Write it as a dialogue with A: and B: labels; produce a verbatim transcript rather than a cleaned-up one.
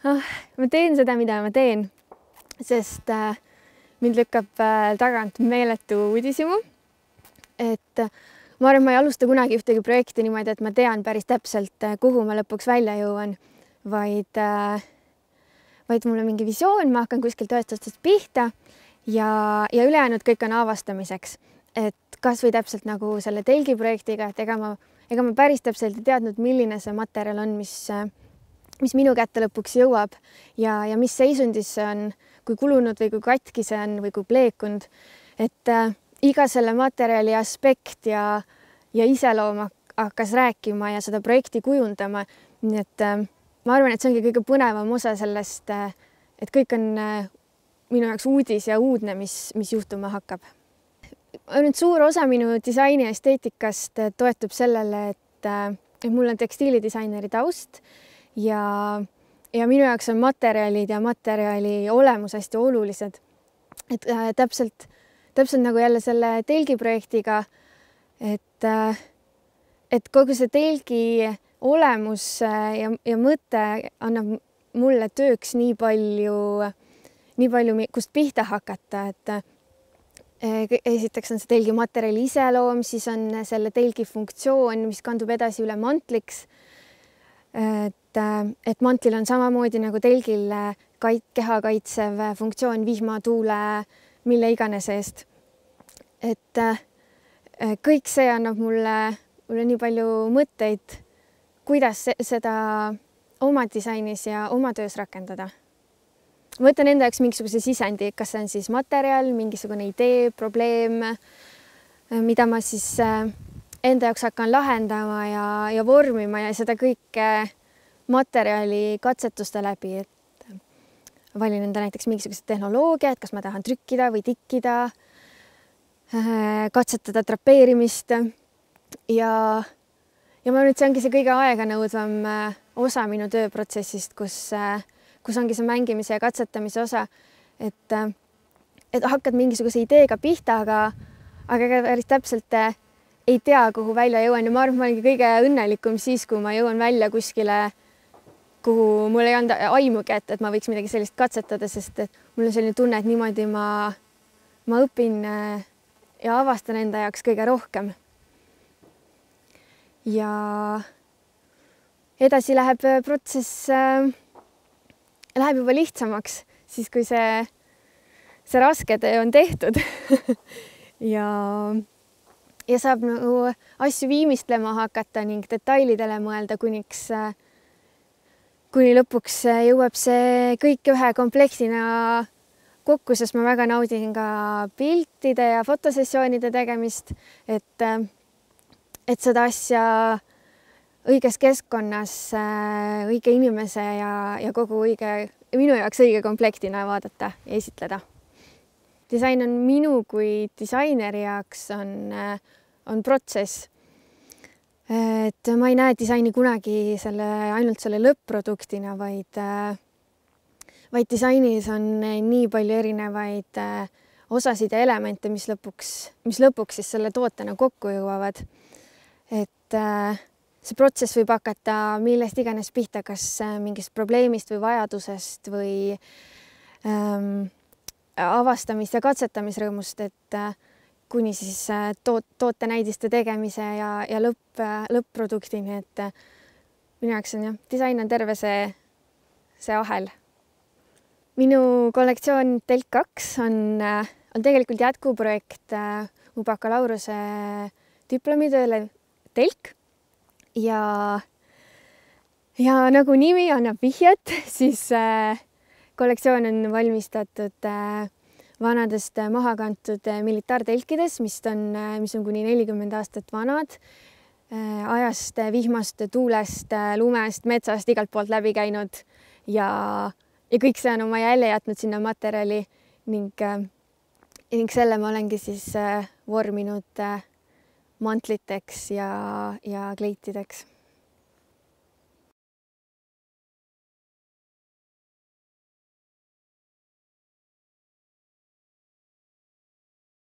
A: Ah, ma teen seda, mida ma teen, sest äh, mind lükkab äh, tagant meeletu uudishimu. Et äh, ma arvan, ma ei alusta kunagi ühtegi projekti niimoodi, et ma tean päris täpselt, äh, kuhu ma lõpuks välja jõuan, vaid, äh, vaid mul on mingi visioon, ma hakkan kuskilt ühest otsast pihta ja, ja ülejäänud kõik on avastamiseks. Et kas või täpselt nagu selle telgi projektiga, et ega ma, ega ma päris täpselt ei teadnud, milline see materjal on, mis äh, mis minu kätte lõpuks jõuab ja, ja mis seisundis see on, kui kulunud või kui katki see on või kui pleekunud. Et äh, iga selle materjali aspekt ja, ja iseloom hakkas rääkima ja seda projekti kujundama. Nii et äh, ma arvan, et see ongi kõige põnevam osa sellest, äh, et kõik on äh, minu jaoks uudis ja uudne, mis, mis juhtuma hakkab. Nüüd suur osa minu disaini esteetikast toetub sellele, et, äh, et mul on tekstiilidisaineri taust. Ja, ja minu jaoks on materjalid ja materjali olemus hästi olulised. Et äh, täpselt, täpselt nagu jälle selle telgi projektiga, et, äh, et kogu see telgi olemus äh, ja, ja mõte annab mulle tööks nii palju, nii palju, kust pihta hakata, et äh, esiteks on see telgi materjali iseloom, siis on selle telgi funktsioon, mis kandub edasi üle mantliks. Et, et mantlil on samamoodi nagu telgil kait, keha kaitsev funktsioon vihma, tuule, mille iganes eest. Et kõik see annab mulle, mulle nii palju mõtteid, kuidas seda oma disainis ja oma töös rakendada. Ma võtan enda jaoks mingisuguse sisendi, kas see on siis materjal, mingisugune idee, probleem, mida ma siis enda jaoks hakkan lahendama ja, ja vormima ja seda kõike materjali katsetuste läbi, et valin enda näiteks mingisugused tehnoloogiad, kas ma tahan trükkida või tikkida, katsetada drapeerimist ja, ja ma nüüd see ongi see kõige aeganõudvam osa minu tööprotsessist, kus, kus ongi see mängimise ja katsetamise osa, et, et hakkad mingisuguse ideega pihta, aga, aga päris täpselt ei tea, kuhu välja jõuan ja ma arvan, ma olengi kõige õnnelikum siis, kui ma jõuan välja kuskile, kuhu mul ei anda aimugi, et, et ma võiks midagi sellist katsetada, sest mul on selline tunne, et niimoodi ma, ma õpin ja avastan enda jaoks kõige rohkem. Ja edasi läheb protsess, läheb juba lihtsamaks, siis kui see, see raske töö on tehtud ja, ja saab nagu asju viimistlema hakata ning detailidele mõelda, kuniks kuni lõpuks jõuab see kõik ühe komplektina kokku, sest ma väga naudin ka piltide ja fotosessioonide tegemist, et, et seda asja õiges keskkonnas, õige inimese ja, ja kogu õige, minu jaoks õige komplektina vaadata ja esitleda. Disain on minu kui disaineri jaoks on, on protsess. Et ma ei näe disaini kunagi selle, ainult selle lõpp-produktina, vaid, vaid disainis on nii palju erinevaid osasid ja elemente, mis lõpuks, mis lõpuks siis selle tootena kokku jõuavad. Et see protsess võib hakata millest iganes pihta, kas mingist probleemist või vajadusest või ähm, avastamist ja katsetamisrõõmust, et kuni siis toot, tootenäidiste tegemise ja, ja lõpp, lõpp-produktini, et minu jaoks on jah, disain on terve see, see ahel. Minu kollektsioon Telk kaks on, on tegelikult jätkuprojekt mu bakalaureuse diplomitööle Telk ja, ja nagu nimi annab vihjet, siis kollektsioon on valmistatud vanadest maha kantud militaartelkides, mis on, mis on kuni nelikümmend aastat vanad, ajast, vihmast, tuulest, lumest, metsast, igalt poolt läbi käinud ja, ja kõik see on oma jälje jätnud sinna materjali ning, ning selle ma olengi siis vorminud mantliteks ja, ja kleitideks.